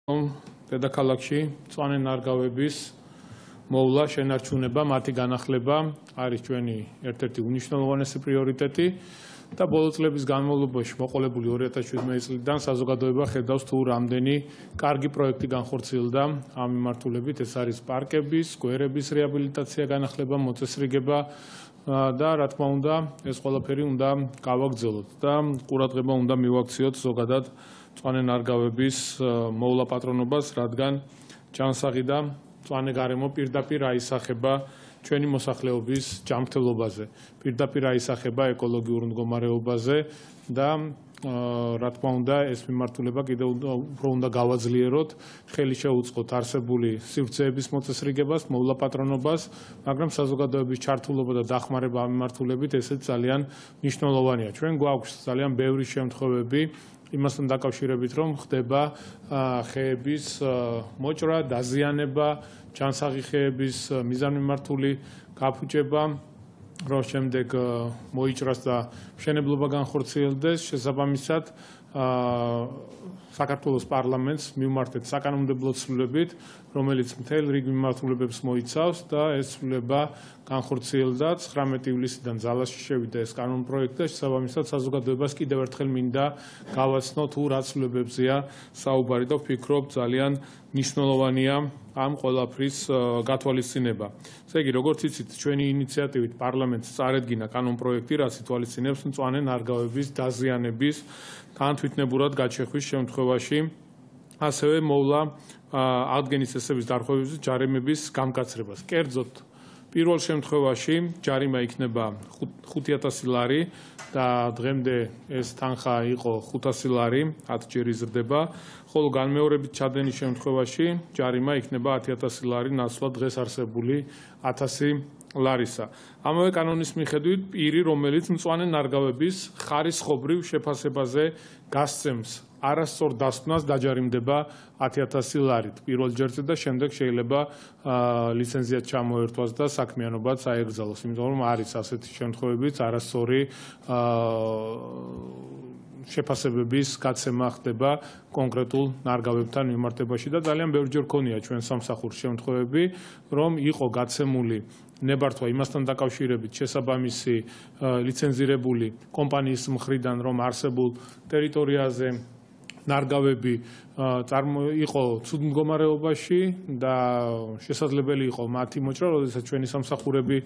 დედაქალაქში მწვანე ნარგავების მოვლა, შენარჩუნება, მათი განახლება არის ჩვენი ერთ-ერთი უნიშნელოვანესი პრიორიტეტი და ბოლო წლების განმავლობაში მოყოლებული 2017 წლიდან საზოგადოება ხედავს თუ რამდენი კარგი პროექტი განხორციელდა ამ მიმართულებით. ეს არის პარკების, სკვერების რეაბილიტაცია, განახლება, მოწესრიგება და რა თქმა უნდა ეს ყველაფერი უნდა გავაგრძელოთ და ყურადღება უნდა მივაქციოთ ზოგადად მწვანე ნარგავების მოვლა პატრონობას, რადგან ჯანსაღი და მწვანე გარემო პირდაპირ აისახება ჩვენი მოსახლეობის ჯანმრთელობაზე, პირდაპირ აისახება ეკოლოგიურ მდგომარეობაზე და რა თქმა უნდა ეს მიმართულება კიდევ უფრო უნდა გავაძლიეროთ, ხელი შეუწყოთ არსებული სივრცეების მოწესრიგებას, მოვლა პატრონობას, მაგრამ საზოგადოების ჩართულობა და დახმარება ამ მიმართულებით ესეც ძალიან მნიშვნელოვანია. ჩვენ გვაქვს ძალიან ბევრი შემთხვევები იმასთან დაკავშირებით, რომ ხდება ხეების მოჭრა, დაზიანება, ჯანსაღი ხეების მიზანმიმართული გაფუჭება, რომ შემდეგ მოიჭრას და მშენებლობა განხორციელდეს. შესაბამისად საქართველოს პარლამენტს მივმართეთ საკანონმდებლო ცვლილებით, რომელიც მთელ რიგ მიმართულებებს მოიცავს და ეს ცვლილება განხორციელდა 19 ივლისიდან ძალაში შევიდა ეს კანონპროექტი და შესაბამისად საზოგადოებას კიდევ ერთხელ მინდა გავაცნო თუ რა ცვლილებებზეა საუბარი და ვფიქრობ ძალიან მნიშვნელოვანია ამ ყველაფრის გათვალისწინება. ესე იგი, როგორც იცით, ჩვენი ინიციატივით პარლამენტს წარედგინა კანონპროექტი, რაც ითვალისწინებს მწვანე ნარგავების დაზიანების განთვითნებურად გაჩეხვის შემთხვევაში, ასევე მოვლა ადგენის წესების დარღვევების ჯარიმების გამკაცრებას. კერძოდ, პირველ შემთხვევაში ჯარიმა იქნება 5,000 ლარი და დღემდე ეს თანხა იყო 500 ლარი, 10 ჯერ იზრდება, ხოლო განმეორებით ჩადენის შემთხვევაში ჯარიმა იქნება 10,000 ლარი ნაცვლად დღეს არსებული 1000 ლარისა. ამავე კანონის მიხედვით პირი, რომელიც მწვანე ნარგავების ხარისხობრივ შეფასებაზე გასცემს არასწორ დასკვნას, დაჯარიმდება 10,000 ლარით პირველ ჯერზე და შემდეგ შეიძლება ლიცენზიაც ჩამოერთვას და საქმიანობაც აეგრძალოს, იმიტომ რომ არის ასეთი შემთხვევებიც არასწორი შეფასებების გაცემა ხდება კონკრეტულ ნარგავებთან მიმართებაში და ძალიან ბევრჯერ ქონია ჩვენ სამსახურს შემთხვევები, რომ იყო გაცემული ნებართვა იმასთან დაკავშირებით შესაბამისი ლიცენზირებული კომპანიის მხრიდან, რომ არსებულ ტერიტორიაზე ნარგავები იყო ცუდ მდგომარეობაში და შესაძლებელი იყო მათი მოჭრა, როდესაც ჩვენი სამსახურები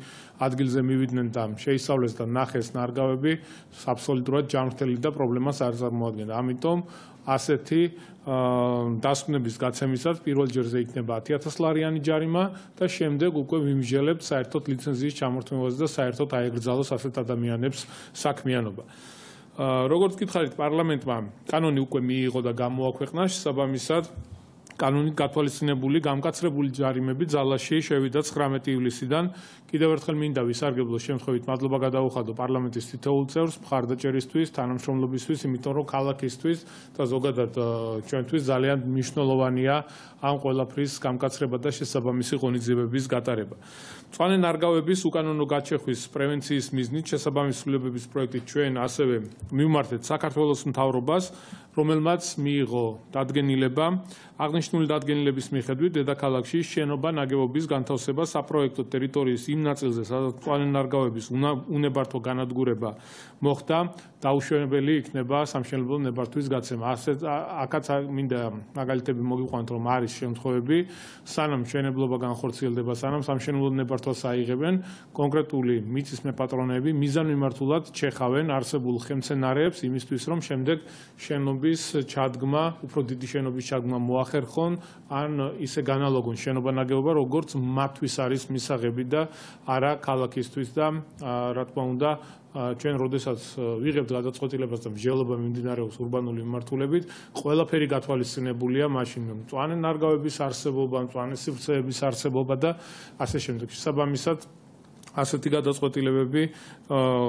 ადგილზე მივიდნენ და შეისწავლეს და ნახეს ნარგავები, აბსოლუტურად ჯანმრთელი და პრობლემას არ წარმოადგენდა. ამიტომ ასეთი დასკვნების გაცემისას პირველ ჯერზე იქნება 10,000 ლარიანი ჯარიმა და შემდეგ უკვე ვიმსჯელებთ საერთოდ ლიცენზიის ჩამორთმევაზე და საერთოდ აეგრძალოს ასეთ ადამიანებს საქმიანობა. როგორც გითხარით, პარლამენტმა კანონი უკვე მიიღო და გამოაქვეყნა, შესაბამისად კანონით გათვალისწინებული გამკაცრებული ჯარიმები ძალაში შევიდა 19 ივლისიდან. კიდევ ერთხელ მინდა ვისარგებლო შემთხვევით მადლობა გადაუხადო პარლამენტის თითოეულ წევრს მხარდაჭერისთვის, თანამშრომლობისთვის, იმიტომ რომ ქალაქისთვის და ზოგადად ჩვენთვის ძალიან მნიშვნელოვანია ამ ყველაფრის გამკაცრება და შესაბამისი ღონისძიებების გატარება. მწვანე ნარგავების უკანონო გაჩეხვის პრევენციის მიზნით შესაბამისი ცვლილებების პროექტით ჩვენ ასევე მივმართეთ საქართველოს მთავრობას, რომელმაც მიიღო დადგენილება აღნიშნული დადგენილების მიხედვით დედაქალაქში შენობა-ნაგებობის განთავსება საპროექტო ტერიტორიის იმ ნაწილზე, სადაც მწვანე ნარგავების უნებართვო განადგურება მოხდა, დაუშვებელი იქნება სამშენებლო ნებართვის გაცემა. აქაც მინდა მაგალითები მოგიყვანოთ, რომ არის შემთხვევები, სანამ მშენებლობა განხორციელდება, სანამ სამშენებლო ნებართვას აიღებენ, კონკრეტული მიწის მეპატრონეები მიზანმიმართულად ჩეხავენ არსებულ ხელმცენარეებს იმისთვის, რომ შემდეგ შენობის ჩადგმა, უფრო დიდი შენობის ჩადგმა მოახერხონ, ან ისე განალოგონ შენობა-ნაგებობა, როგორც მათთვის არის მისაღები და არა ქალაქისთვის და რა თქმა უნდა ჩვენ როდესაც ვიღებთ გადაწყვეტილებას და მსჯელობა მიმდინარეობს ურბანული მიმართულებით, ყველაფერი გათვალისწინებულია მაშინ მწვანე ნარგავების არსებობა, მწვანე სივრცეების არსებობა და ასე შემდეგ. შესაბამისად ასეთი გადაწყვეტილებები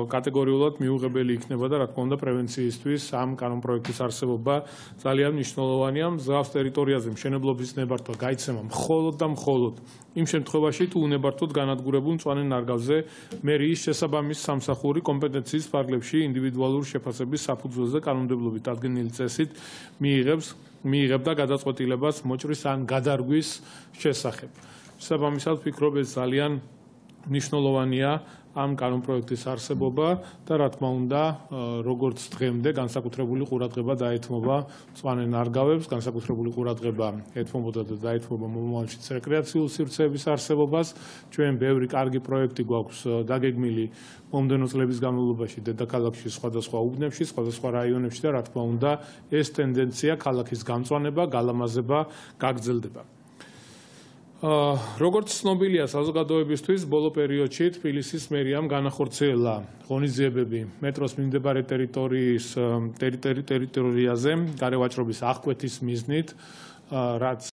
კატეგორიულად მიუღებელი იქნება და რა თქმა უნდა პრევენციისთვის ამ კანონპროექტის არსებობა ძალიან მნიშვნელოვანია. მსგავს ტერიტორიაზე მშენებლობის ნებართვა გაიცემა მხოლოდ და მხოლოდ იმ შემთხვევაში, თუ უნებართვოდ განადგურებულ მწვანე ნარგავზე მერიის შესაბამის სამსახური კომპეტენციის ფარგლებში ინდივიდუალური შეფასების საფუძველზე კანონმდებლობით დადგენილი წესით მიიღებს მიიღებდა გადაწყვეტილებას მოჭრის ან გადარგვის შესახებ. შესაბამისად, ვფიქრობ, ეს ძალიან მნიშვნელოვანია ამ კანონპროექტის არსებობა და რა თქმა უნდა, როგორც დღემდე განსაკუთრებული ყურადღება დაეთმობა მწვანე ნარგავებს, განსაკუთრებული ყურადღება ეთმობოდა და დაეთმობა მომავალშიც რეკრეაციულ სივრცეების არსებობას. ჩვენ ბევრი კარგი პროექტი გვაქვს დაგეგმილი მომდევნო წლების განმავლობაში დედაქალაქში, სხვადასხვა უბნებში, სხვადასხვა რაიონებში და რა თქმა უნდა, ეს ტენდენცია ქალაქის გამწვანება, გალამაზება გაგრძელდება. როგორც ცნობილია საზოგადოებისთვის, ბოლო პერიოდში თბილისის მერიამ განახორციელა ღონისძიებები მეტროს მიმდებარე ტერიტორიაზე, გარევაჭრობის აღკვეთის მიზნით, რაც